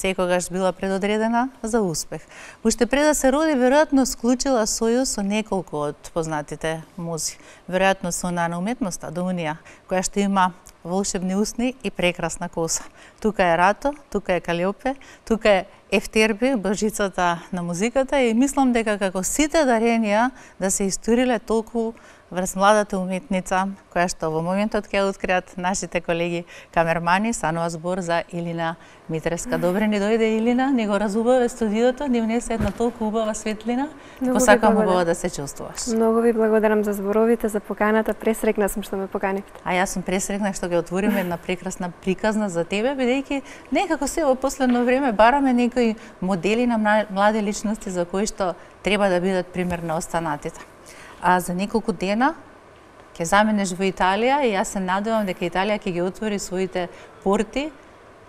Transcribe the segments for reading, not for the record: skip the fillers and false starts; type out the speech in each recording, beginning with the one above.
секогаш била предодредена за успех. Уште пред да се роди, веројатно склучила сојуз со неколку од познатите музи. Веројатно со она на уметноста, до унија, која што има волшебни усни и прекрасна коса. Тука е Рато, тука е Калиопе, тука е Ефтерби, божицата на музиката, и мислам дека како сите даренија да се историле толку врз младата уметница, која што во моментот ќе откриат нашите колеги камермани, станува збор за Илина Митреска. Добре ни дојде, Илина, ни го разубаве студиото, ни внесе една толку убава светлина. Посакам убаво да се чувствуваш. Многу ви благодарам за зборовите, за поканата. Пресрекна сум што ме поканивте. А јас сум пресрекна што ќе отвориме една прекрасна приказна за тебе, бидејќи некако се во последно време бараме некои модели на млади личности за кои што треба да бидат пример на останатите. А за неколку дена ќе заминеш во Италија и јас се надевам дека Италија ќе ги отвори своите порти,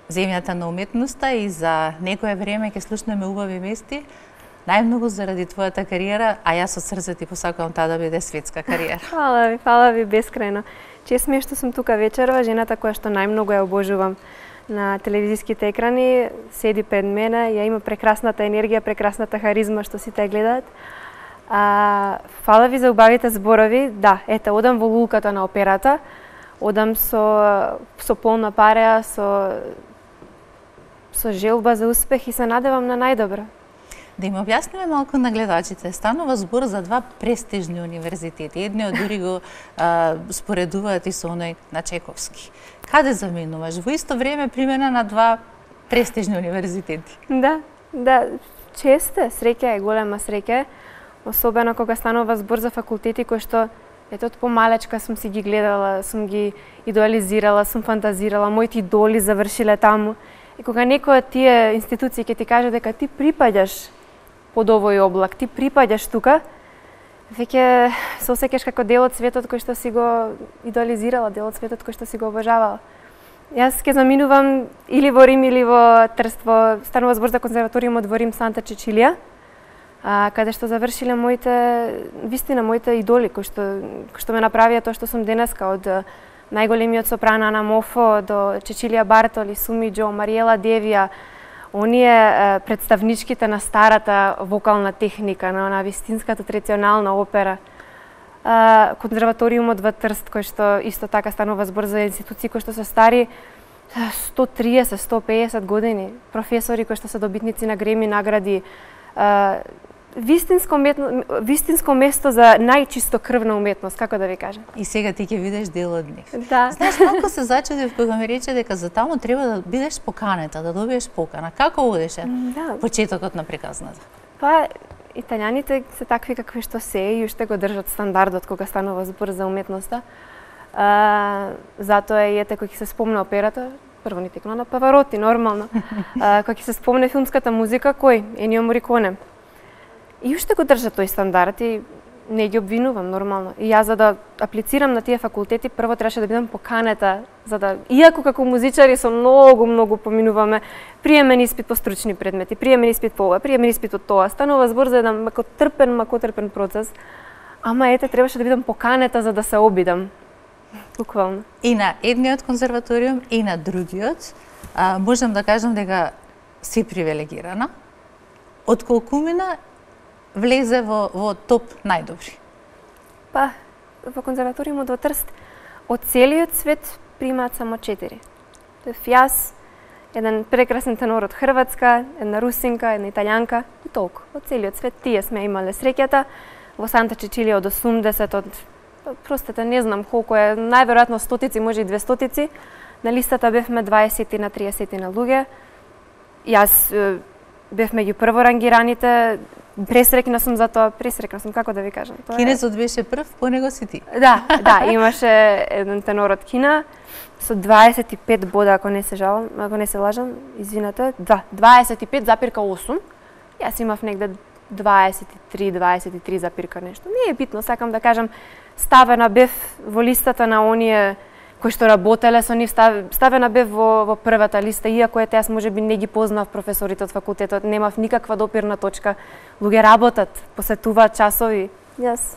земјата на уметноста, и за некое време ќе слушнеме убави вести, најмногу заради твојата кариера, а јас од срце ти посакувам таа да биде светска кариера. Фала ви бескрајно. Чест ми е што сум тука вечерва, жената која што најмногу ја обожувам на телевизиските екрани, седи пред мене, ја има прекрасната енергија, прекрасната харизма што сите ја гледаат. Фала ви за убавите зборови. Да, ете, одам во лулката на операта, одам со полна пареа, со желба за успех и се надевам на најдобро. Да им објасниме малку на гледачите. Станува збор за два престижни универзитети. Едниот дури го споредуваат и со оној на Чековски. Каде заминуваш? Во исто време примена на два престижни универзитети. Да, чест е, среќа е, голема среќа е. Особено кога станува збор за факултети кои што ето од помалечка сум си ги гледала, сум ги идеализирала, сум фантазирала, моите идоли завршиле таму. И кога некоја од тие институции ќе ти каже дека ти припаѓаш под овој облак, ти припаѓаш тука, веќе се осеќаш како дел од светот кој што си го идеализирала, дел од светот кој што си го обожавала. Јас ќе заминувам или во Рим или во Трст, станува збор за конзерваториумот во Рим Санта Чечилија, каде што завршиле моите идоли кои што ме направија тоа што сум денеска, од најголемиот сопрано Ана Мофо до Чечилија Бартоли, Суми Џо, Мариела Девија, оние представничките на старата вокална техника, на она вистинската традиционална опера. Конзерваториумот во Трст, кој што исто така станува збор за институции кои што се стари 130-150 години, професори кои што се добитници на Греми награди, вистинско место за најчистокрвна уметност, како да ви кажам. И сега ти ќе видиш дел од нив. Да. Знаеш, малку се зачудив кога ми рече дека за таму треба да бидеш поканета, да добиеш покана. Како одеше почетокот на приказната? Па, италијаните се такви какви што се и уште го држат стандардот кога станува збор за уметноста. Затоа и ете кога ќе се спомне операта, прво ни текна на Павароти, нормално. Кога ќе се спомне филмската музика, кој? Енио Мориконе. И уште го држат тој стандард и не ги обвинувам, нормално. И јас за да аплицирам на тие факултети, прво требаше да бидам поканета, за да, иако како музичари со многу поминуваме приемен испит по стручни предмети, приемен испит по ова, приемен испит од тоа, станува збор за еден макотрпен процес. Ама ете, требаше да бидам поканета за да се обидам. Буквално. И на едниот конзерваториум и на другиот, можам да кажам дека си привилегирана. Од колкумина влезе во топ најдобри? Па, во конзерваториумот во Трст, од целиот свет примаат само 4. Јас, еден прекрасен тенор од Хрватска, една русинка, една италијанка и толку. Од целиот свет тие сме имале среќата. Во Санта Чечилија од 80, простете, не знам колку е, најверојатно стотици, може и 200. На листата бевме 20 на 30 на луѓе. Јас бев меѓу прворангираните, пресрекна сум за тоа, како да ви кажам. Кинезот беше прв, по него си ти. Да, имаше еден тенор од Кина со 25 бода, ако не се лажам, извинете, 25,8. Јас имав негде 23 запирка нешто. Не е битно, сакам да кажам, ставена бев во листата на оние кои што работеле со нив, ставена бев во првата листа, иако јас можеби не ги познав професорите од факултетот, немав никаква допирна точка. Луѓе работат, посетуваат часови. Јас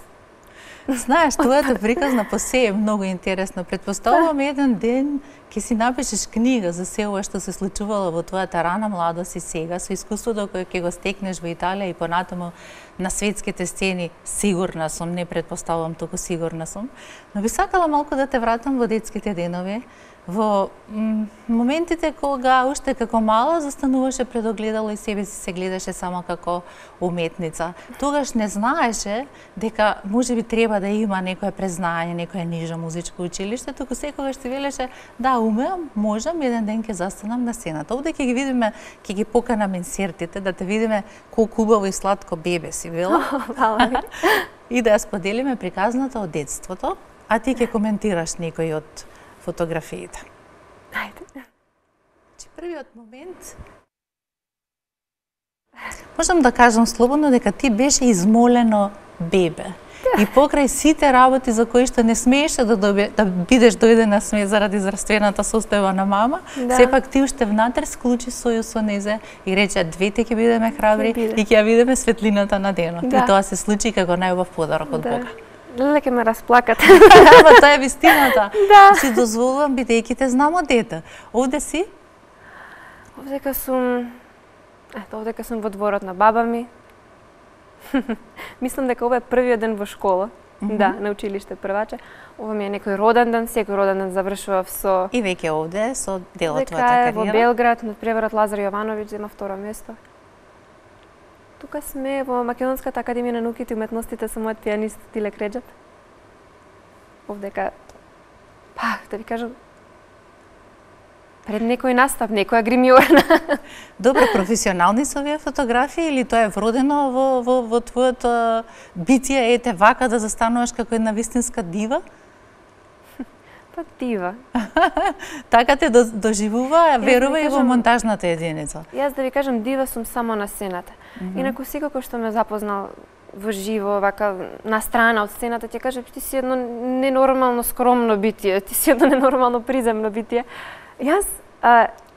Знаеш, твојата приказна по се е многу интересно. Предпоставувам еден ден ќе си напишеш книга за се ова што се случувало во твојата рана младост и сега, со искуството кое ќе го стекнеш во Италија и понатаму на светските сцени, сигурна сум, не предпоставувам, туку сигурна сум. Но би сакала малку да те вратам во детските денови, во моментите кога уште како мала застануваше пред огледало и себе си се гледаше само како уметница. Тогаш не знаеше дека можеби треба да има некое признање, некое нижо музичко училиште, туку секогаш ти велеше да умеам, можам, еден ден ќе застанам на сцената. Овде ќе ги видиме, ќе ги поканаме инсертите, да те видиме колку убаво и сладко бебе си била. И да ја споделиме приказната од детството, а ти ќе коментираш некои од фотографиите. Ајде. Првиот момент, можам да кажам слободно дека ти беше измолено бебе. И покрај сите работи за кои што не смееше да бидеш дојдена заради здравствената состојба на мама, сепак ти уште внатре склучи соју со незе и рече двете ќе бидеме храбри и ќе ја видиме светлината на денот. И тоа се случи како најубав подарок од Бога. Леле ке ме расплакате. Ама тоа е вистината. Си дозволувам бидејќи те знам од дете. Овде си? Овдека сум во дворот на баба ми. Мислам дека ова е првиот ден во школа. Да, на училиште прваче. Ова ми е некој роден ден, секој роден ден завршував со... И веќе овде, со дел од твојата кариера? кариера? Во Белград, над преворот Лазар Јовановиќ, зема второ место. Тука сме во Македонската академија на науките и уметностите со мојот пианист Тилек Реджеп. Овдека, да ви кажам, пред некој настап, некоја гримјорна. Добро, професионални се овие фотографии или тоа е вродено во твоето битие, ете вака да застануваш како една вистинска дива? Па дива. Така те доживува, верува и во монтажната единица. Јас да ви кажам, дива сум само на сцената. Инаку секако што ме запознал во живо, вака на страна од сцената, ќе кажа ти си едно ненормално скромно битие, ти си едно ненормално приземно битие. Јас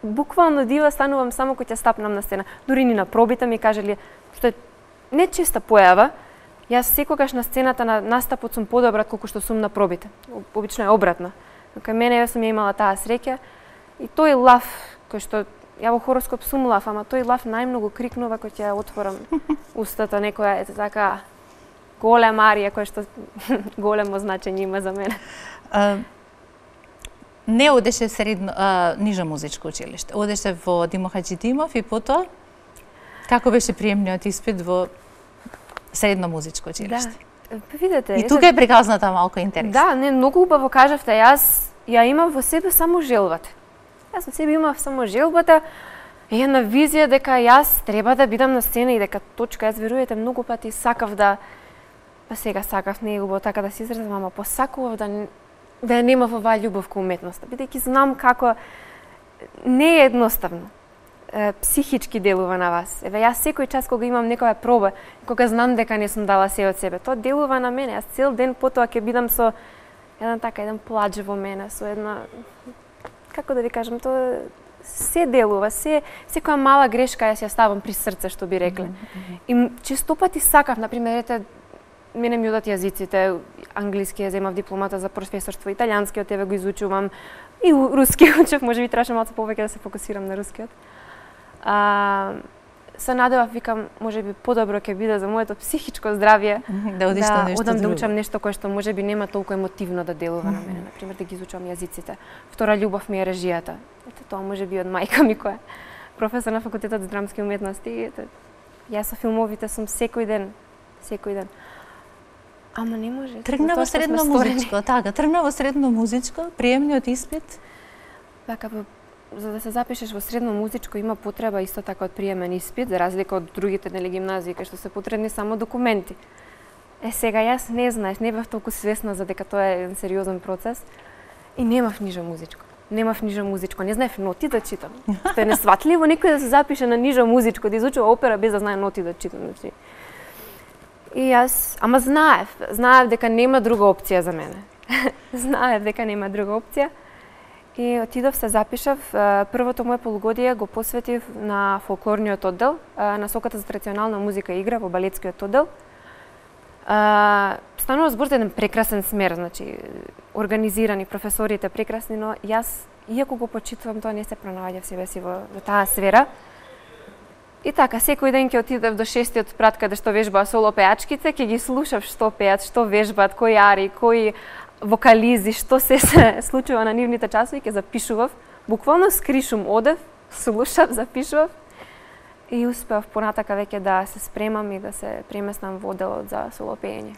буквално дива станувам само кога ќе стапнам на сцена. Дури ни на пробите ми кажале, што е не честа појава, јас секогаш на сцената на настапот сум подобра колку што сум на пробите. Обично е обратно. Кај мене јас сум ја имала таа среќа и тој лав кој што ја во хороскоп сум лав, ама тој лав најмногу крикнува кога ќе отворам устата некоја така голема арија која што големо значење има за мене. Не одеше нижо музичко училиште, одеше во Димо Хаџидимов и потоа како беше приемниот испит во средно музичко училиште? Да, видете. И тука е приказната малку интересна. Да, не, многу убаво кажавте, јас ја имам во себе само желбата. Јас во себе имав само желбата и една визија дека јас треба да бидам на сцена и дека точка, јас верувате многу пати сакав да, па сега сакав, не е убаво така да се изразам, ама посакував да ја немав оваа љубов кон уметноста, бидејќи знам како не е едноставно. Психички делува на вас. Еве јас секој час кога имам некоја проба, кога знам дека не сум дала се од себе, тоа делува на мене. Јас цел ден потоа ќе бидам со еден плач во мене, со една, како да ви кажам, тоа се делува, секоја мала грешка јас ја ставам при срце, што би рекле. И честопати сакав, например, ете, мене ми одат јазиците, англиски ја земав дипломата за професорство, италијанскиот еве го изучувам, и руски учев, можеби требаше малку повеќе да се фокусирам на рускиот. Се надевав, викам, можеби подобро ќе биде за моето психичко здравје да одам да учам нешто кое што можеби нема толку емотивно да делува на мене, например да ги изучувам јазиците. Втора љубов ми е режијата. Ете тоа можеби од мајка ми која професор на факултетот за драмски уметности. Ете, јас со филмовите сум секој ден. Ама не може. Тргна во средно музичко, така, тргна во средно музичко, приемниот испит. Така, за да се запишеш во средно музичко има потреба исто така од приемен испит, за разлика од другите гимназии кај што се потребни само документи. Сега јас не знаеш, не бев толку свесна за дека тоа е еден сериозен процес и немав нижо музичко. Не знаев ноти да читам. Што е несватливо некој да се запише на нижо музичко, да изучува опера без да знае ноти да читам. И јас, ама знаев дека нема друга опција за мене. И отидов се запишав, првото моје полугодие го посветив на фолклорниот оддел, насоката за традиционална музика и игра во балетскиот оддел. Станува збор за еден прекрасен смер, значи организирани, професорите прекрасни, но јас, иако го почитувам, тоа не се пронаоѓа в себе си во таа сфера. И така, секој ден ќе отидев до 6-тиот спрат каде што вежбаа соло пеачките, ќе ги слушав што пеат, што вежбаат, кои ари, кои вокализи, што се случува на нивните часови, ќе запишував. Буквално скришум, одев, слушав, запишував и успеав понатака веќе да се спремам и да се преместам во делот за соло пеење.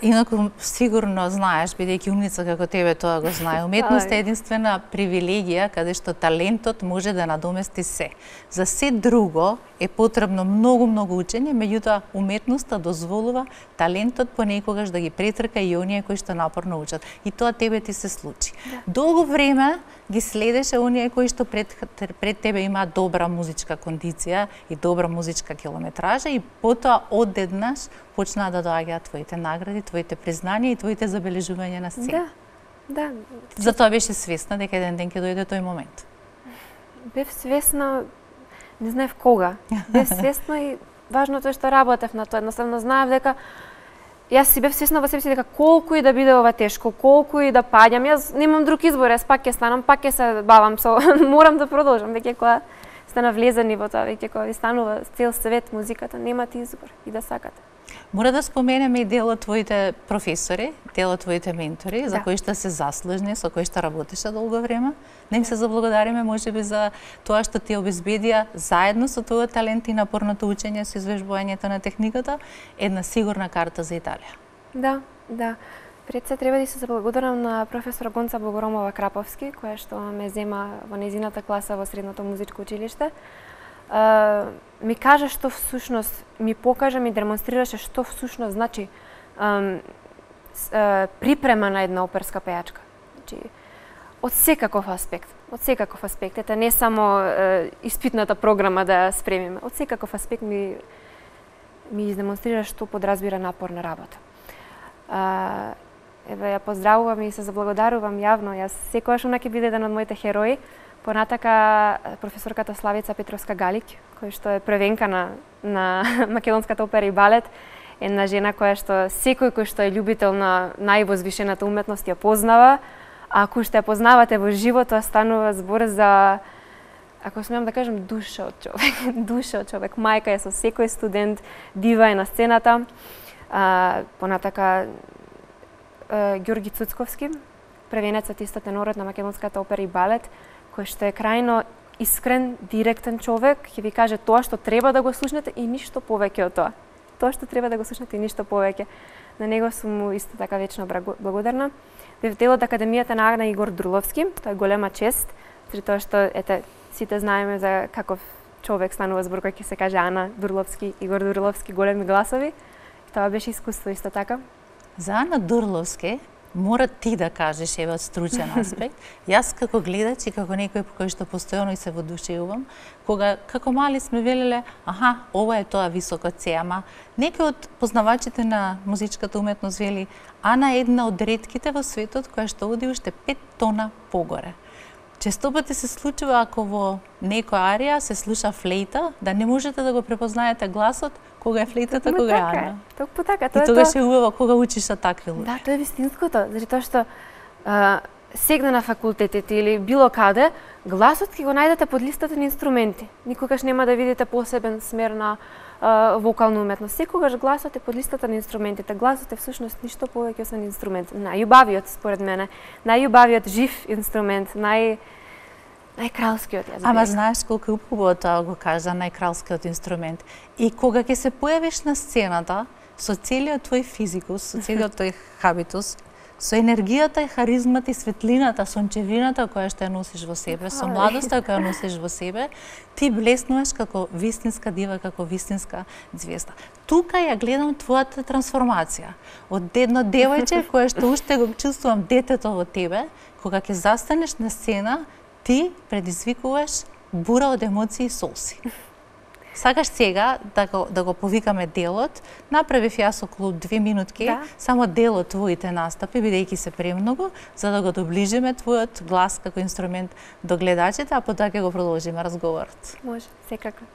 Инаку сигурно знаеш, бидејќи умница како тебе тоа го знае, уметноста е единствена привилегија каде што талентот може да надомести се. За се друго е потребно многу учење, меѓутоа уметноста дозволува талентот понекогаш да ги претрка и оние кои што напорно учат. И тоа тебе ти се случи. Долго време ги следеше оние кои што пред тебе има добра музичка кондиција и добра музичка километража и потоа одеднаш почнаа да доаѓаат твоите награди, твоите признанија и твоите забележувања на сцена. Да. Затоа беше свесна дека еден ден ќе дојде тој момент. Бев свесна, не знаев кога. Бев свесна и важното е што работев на тоа. Едноставно знаев дека јас си бев свесна во себе си дека колку и да биде ова тешко, колку и да паѓам, јас немам друг избор, јас пак ќе станам, пак ќе се бавам со морам да продолжам, веќе кога сте навлезени во тоа, веќе кога ви станува цел свет музиката, немате избор и да сакате. Мора да споменеме и дел од твоите професори, дел од твоите ментори, за кои што се заслужни, со кои што работеше долго време. Не им се заблагодариме можеби за тоа што ти обезбедија заедно со твојот талент и напорното учење со извежбувањето на техниката една сигурна карта за Италија. Да. Пред се треба да се заблагодарам на професор Гонца Богоромова Краповски, која што ме зема во нејзината класа во средното музичко училиште. Ми кажа што всушност, ми покажа, ми демонстрираше што всушност значи припрема на една оперска пејачка. Значи, од секаков аспект. Ете, не само испитната програма да спремиме, од секаков аспект ми издемонстрира што подразбира напорна работа. Ја поздравувам и се заблагодарувам јавно. Јас секогаш она ќе биде еден од моите херои. Понатака професорката Славица Петровска-Галик, која што е првенка на македонската опера и балет, една жена која што секој кој што е љубител на највозвишената уметност ја познава, а ако што ја познавате во живот, тоа станува збор за, ако смеам да кажам, душа од човек. Мајка е со секој студент, дива е на сцената. Понатака Ѓорги Цуцковски, првенецот исто тенорот на македонската опера и балет, кој што е крајно искрен, директен човек, ќе ви каже тоа што треба да го слушнете и ништо повеќе од тоа. Тоа што треба да го слушнете и ништо повеќе. На него сум му исто така вечно благодарна. Бев дел од Академијата на Агна Игор Дурловски, тоа е голема чест, заради тоа што сите знаеме за каков човек станува збор кој ќе се каже Ана Дурловски, Игор Дурловски, големи гласови. Тоа беше искуство исто така. За Ана Дурловски мора ти да кажеш од стручен аспект. Јас како гледач и како некој по кој што постојано и се водушевувам, кога како мали сме велеле, ова е тоа високо С, ама некој од познавачите на музичката уметност вели, Ана е една од ретките во светот која што оди уште 5 тона погоре. Често пати се случува ако во некоја арија се слуша флейта, да не можете да го препознаете гласот кога е флейтата, кога е Ана. Токму така. И тогаш е убаво кога учиш со такви луѓе. Да, тоа е вистинското, заради тоа што сегна на факултетите или било каде, гласот ќе го најдете под листата на инструменти. Никогаш нема да видите посебен смер на вокална уметност. Секогаш гласот е под листата на инструментите. Гласот е всушност ништо повеќе освен инструмент. Најубавиот според мене, најубавиот жив инструмент, најкралскиот, јас бих. Ама знаеш колку е убаво тоа го кажа, најкралскиот инструмент. И кога ќе се појавиш на сцената со целиот твој физикус, со целиот твој хабитус, со енергијата и харизмата и светлината, сончевината која што ја носиш во себе, со младоста која носиш во себе, ти блеснуваш како вистинска дива, како вистинска звезда. Тука ја гледам твојата трансформација. Од едно девојче кое што уште го чувствувам детето во тебе, кога ќе застанеш на сцена, ти предизвикуваш бура од емоции и солси. Сакаш сега да го повикаме делот, направив јас околу 2 минутки, само дел од твоите настапи, бидејќи се премногу, за да го доближиме твојот глас како инструмент до гледачите, а потоа ќе го продолжиме разговорот. Може, секако.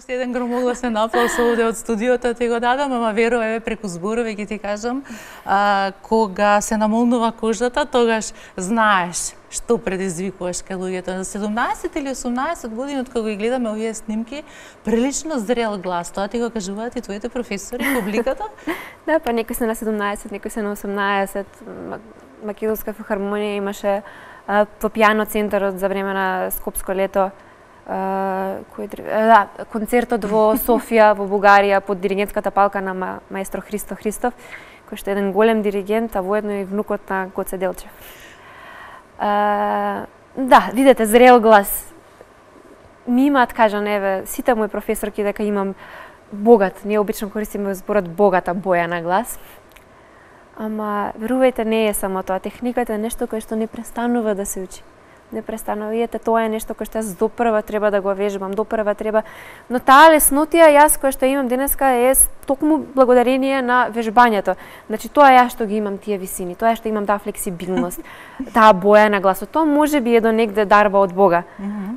уште еден громогласен аплауз овде од студиото ти го дадам, ама веруваме преку зборови ќе ти кажам, кога се намолнува кожата, тогаш знаеш што предизвикуваш кај луѓето. На 17 или 18 години од кога ги гледаме овие снимки, прилично зрел глас. Тоа ти го кажуваат и твоите професори, публиката? Да, па некои се на 17, некои се на 18. Македонска филхармонија имаше по пијано центарот за време на Скопско лето. Концертот во Софија, во Бугарија, под диригентската палка на маестро Христо Христов, кој што е еден голем диригент, а воедно и внукот на Гоце Делчев. Да, видете, зрел глас. Ми имаат, кажан, еве, сите мои професорки дека имам богат, ние обично користиме зборот богата боја на глас. Ама, верувајте, не е само тоа. Техниката е нешто кое што не престанува да се учи. Не престанува. Видете, тоа е нешто кое што јас допрва треба да го вежбам, допрва треба. Но таа леснотија јас која што имам денеска е токму благодарение на вежбањето. Значи тоа јас што ги имам тие висини, тоа што имам таа флексибилност, таа боја на гласот. Тоа можеби е до негде дарба од Бога.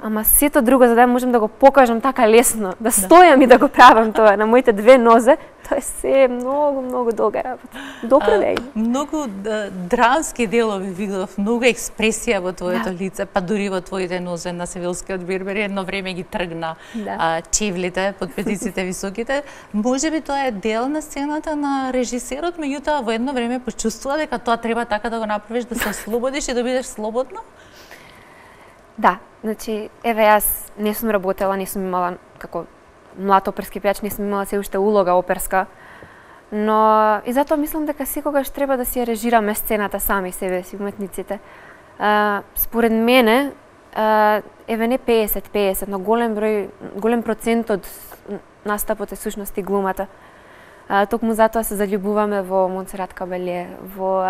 Ама сето друго за да можам да го покажам така лесно, да стојам и да го правам тоа на моите две нозе, тоа е се многу долга работа. Допре Многу драмски делови видов, многу експресија во твоето лице, па дури во твоите нозе на Севилскиот Бербер едно време ги тргна чевлите под петиците високите. Можеби тоа е дел на сцената на режисерот, меѓутоа во едно време почувствува дека тоа треба така да го направиш да се ослободиш и да бидеш слободна? Да, значи, еве јас не сум работела, не сум имала како млад оперски пејач, не сум имала се уште улога оперска, но и затоа мислам дека секогаш треба да си ја режираме сцената сами себе си, уметниците. Според мене, еве не 50-50, но голем процент од настапот е сушност и глумата. Токму затоа се заљубуваме во Монсерат Кабелје, во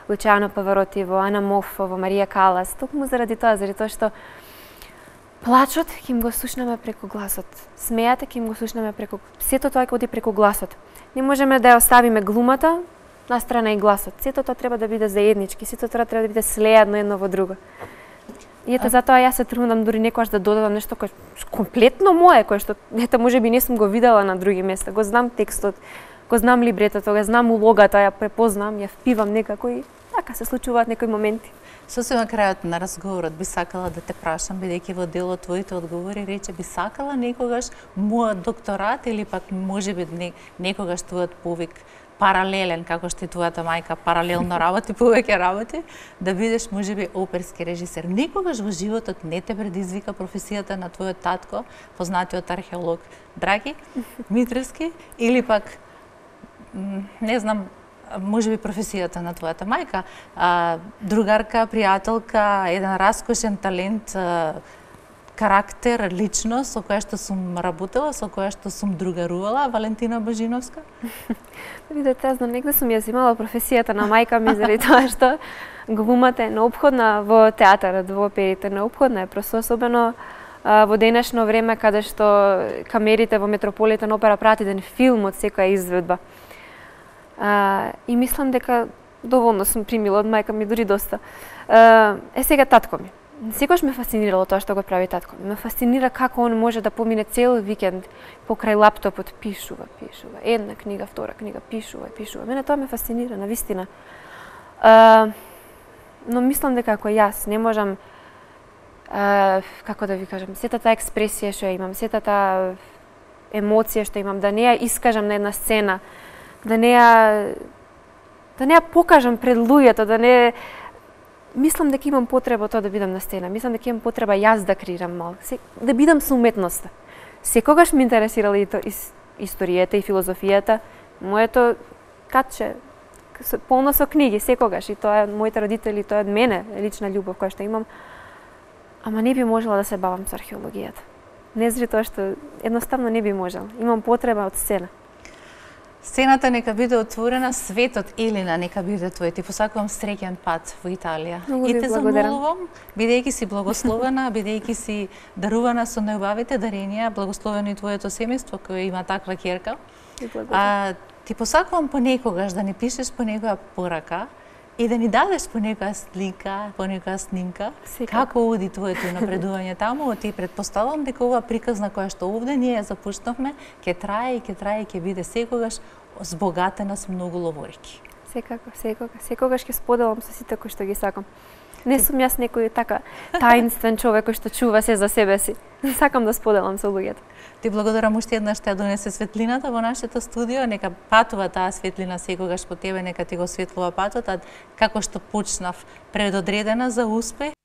Лучано Павароти, во Ана Моффо, во Марија Калас. Токму заради тоа што плачот ќе им го слушнаме преку гласот. Смејате ќе им го слушнаме преку... Сето тоа ќе оди преку гласот. Не можеме да ја оставиме глумата на страна и гласот. Сето тоа треба да биде заеднички, сето тоа треба да биде слеадно едно во друго. И ето затоа јас се трудам дури некогаш да додадам нешто кое комплетно мое, кое што ето можеби не сум го видела на други места. Го знам текстот, го знам либретото, го знам улогата, ја препознам, ја впивам некако и така се случуваат некои моменти. Сосем на крајот на разговорот би сакала да те прашам, бидејќи во дел од твоите одговори рече би сакала некогаш мојот докторат или пак можеби некогаш твојот повик паралелен, како што и твојата мајка паралелно работи, повеќе работи, да бидеш можеби оперски режисер. Некогаш во животот не те предизвика професијата на твојот татко, познатиот археолог Драги Митревски, или пак не знам, можеби професијата на твојата мајка, другарка, пријателка, еден раскошен талент, карактер, личност со која што сум работела, со која што сум другарувала, Валентина Божиновска? Видете, јас негде сум ја имала професијата на мајка ми заради тоа што глумата е неопходна во театарот, во оперите, неопходна е, просто особено во денешно време каде што камерите во Метрополитен опера прават еден филм од секоја изведба. И мислам дека доволно сум примила од мајка ми, дури доста. Сега татко ми. Секогаш ме фасцинирало тоа што го прави татко. Ме фасцинира како он може да помине цел викенд покрај лаптопот, пишува. Една книга, втора книга, пишува. Мене тоа ме фасцинира, навистина. Но мислам дека ако јас не можам, како да ви кажам, сета таа експресија што ја имам, сета таа емоција што имам, да не ја искажам на една сцена, да не ја покажам пред луѓето, да не... Мислам дека имам потреба тоа да бидам на сцена. Мислам дека имам потреба јас да креирам мал, да бидам со уметноста. Секогаш ме интересирала и историјата и филозофијата. Моето катче полно со книги секогаш и тоа е моите родители, тоа е од мене лична љубов која што имам. Ама не би можела да се бавам со археологијата. Не заради тоа што едноставно не би можела. Имам потреба од сцена. Сцената нека биде отворена, светот Елина нека биде твој. Ти посакувам среќен пат во Италија. И те замолувам, бидејќи си благословена, бидејќи си дарувана со најубавите даренија, благословено и твоето семејство кое има таква ќерка. Ти посакувам понекогаш да ни пишеш по некоја порака и да ни дадеш по некоја слика, по некоја снимка, како оди твоето напредување таму, и претпоставувам дека оваа приказна која што овде ние започнавме, ќе трае и ќе биде секогаш збогатена со многу ловорики. Секогаш ќе споделам со сите кои што ги сакам. Не сум јас некој така таинствен човек кој што чува се за себе си. Сакам да споделам со луѓето. Ти благодарам уште еднаш што ја донесе светлината во нашето студио. Нека патува таа светлина секогаш по тебе, нека ти го светлува патот, а како што почнав предодредена за успех.